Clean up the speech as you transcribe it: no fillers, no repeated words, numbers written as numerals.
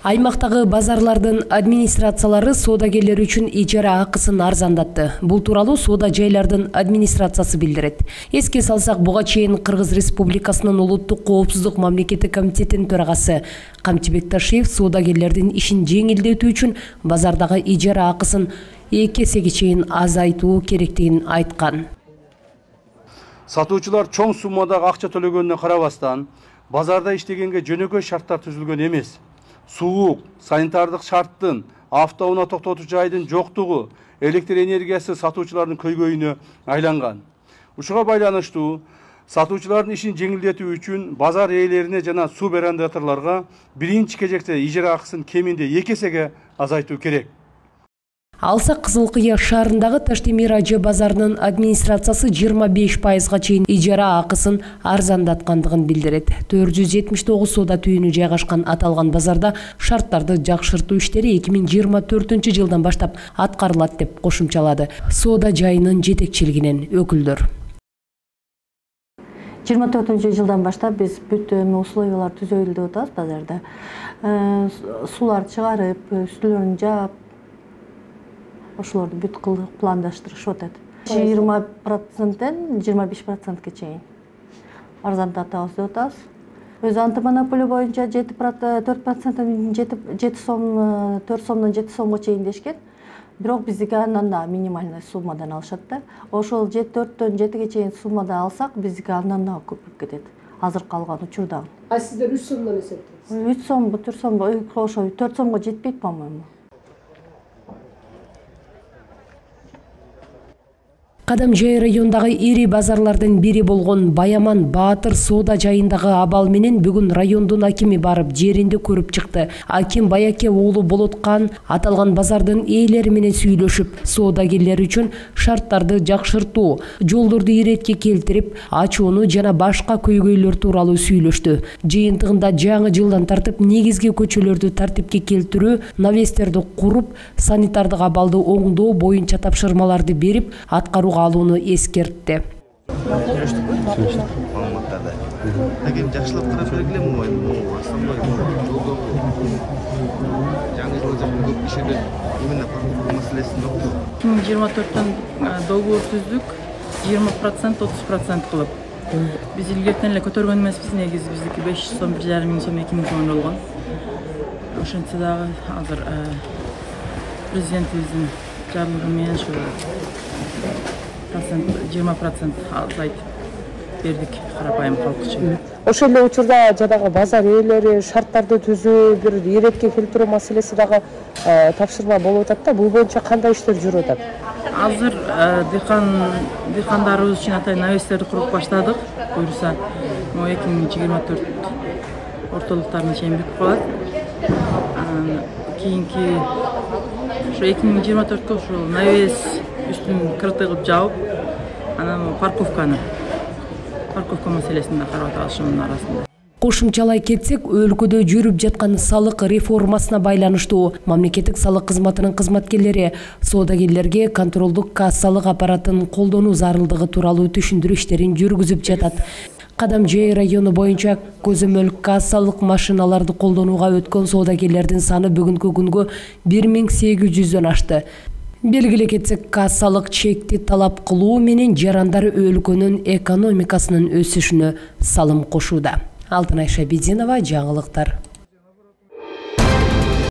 Аймактагы базарлардын администрациялары соодагерлер үчүн ижара акысын арзандатты. Бул тууралуу соода жайлардын администрациясы билдирет. Эске салсак, буга чейин Кыргыз Республикасынын улуттук коопсуздук мамлекеттик комитетинин төрагасы Камчыбек Ташиев соодагерлердин ишин жеңилдетүү үчүн базардагы ижара акысын 2 эсеге чейин азайтуу керектигин айткан. Сатуучулар чоң суммадагы акча төлөгөнүнө карабастан, базарда иштегенге жөнөкөй шарттар түзүлгөн эмес. Суук, санитардык шарттын, автоунаа токтотуу жайдын жоктугу, электр энергиясы сатуучулардын көйгөйүнө айланган. Ушуга байланыштуу сатуучулардын ишин жеңилдетүү үчүн базар ээлерине жана субарендаторлорго биринчи кезекте ижара акысын кеминде 2 эсеге азайтуу керек. Алсак Кызыл Кыя шаарындагы Таштемир ажы базарынын администрациясы 25%га чейин ижара акысын арзандаткандыгын билдирет. 479 соода түйүнү жайгашкан аталган базарда шарттарды жакшыртуу иштери 2024-жылдан баштап аткарылат деп кошумчалады соода жайынын жетекчилигинен өкүлдөр. 24-жылдан баштап биз бүт условиялар түзөлдү деп атабыз базарда. Сулар чыгарып, үстүлөрүн жаап, ошолорду бүт кылып пландаштырышып атат. 20%-тен 25%ке чейин арзандатабыз деп атабыз. Өз антимонополия боюнча 4%-тен 4 сомдон 7 сомго чейин дешкен. Бирок биздики андан да минимальный суммадан алышат да. Ошол 4-төн 7ге чейин суммада алсак, биздики андан да көпүп кетет. Азыр калган учурда. А сиздер 3 сомдон эсептейсиз? 3 сом, 4 сом, ошо 4 сомго жетпейт, по-моему. Кадамжай райондагы ири базарлардын бири болгон Баяман Баатыр соода жайындагы абал менен бүгүн райондун акими барып жеринде көрүп чыкты. Аким Баяке уулу Болоткан аталган базардын ээлери менен сүйлөшүп, соодагерлер үчүн шарттарды жакшыртуу, жолдорду иретке келтирип, ачууну жана башка көйгөйлөр тууралуу сүйлөштү. Жыйынтыгында жаңы жылдан тартып негизги көчөлөрдү тартипке келтирүү, навестерди куруп, санитардык абалды оңдоо боюнча тапшырмаларды берип, аткарууга алууну эскертти. Маалыматтарды. Агем жакшылап карап бергилем, основной жолдорду. Жаңы жылы көп кишилер именно парковка маселесин жокту. 2024-төн договор түздүк, 20% 30% кылып. Биз илгертен эле көтөргөн эмеспиз, негизи биздики 500 сом, 1,5 миң сом, 2 миң сом болгон. Ошентсе дагы азыр президентибиздин жарлыгы менен ушу 20% азайтып бердик карапайым калк үчүн. Ошол эле учурда жанагы базар ээлери шарттарды түзүү, бир иретке келтирүү маселеси дагы тапшырма болуп атат да. Бул боюнча кандай иштер жүрүп атат? Азыр дыйкандарыбыз үчүн атайын навестерди куруп баштадык. Буюрса, 2024 ортолуктарына чейин бүтүп калат. Кийинки ушу 2024-кө ушул навес үстүн крытый кылып жаап, анан парковка маселесин да карап атабыз ошонун арасында. Кошумчалай кетсек, өлкөдө жүрүп жаткан салык реформасына байланыштуу мамлекеттик салык кызматынын кызматкерлери соодагерлерге контролдук кассалык аппаратын колдонуу зарылдыгы тууралуу түшүндүрүү иштерин жүргүзүп жатат. Кадамжай району боюнча көзөмөл кассалык машиналарды колдонууга өткөн соодагерлердин саны бүгүнкү күнгө 1800-дөн ашты. Белгиле кетсек, кассалык чекти талап кылуу менен жарандар өлкөнүн экономикасынын өсүшүнө салым кошууда. Алтынайша Бединова, жаңылыктар.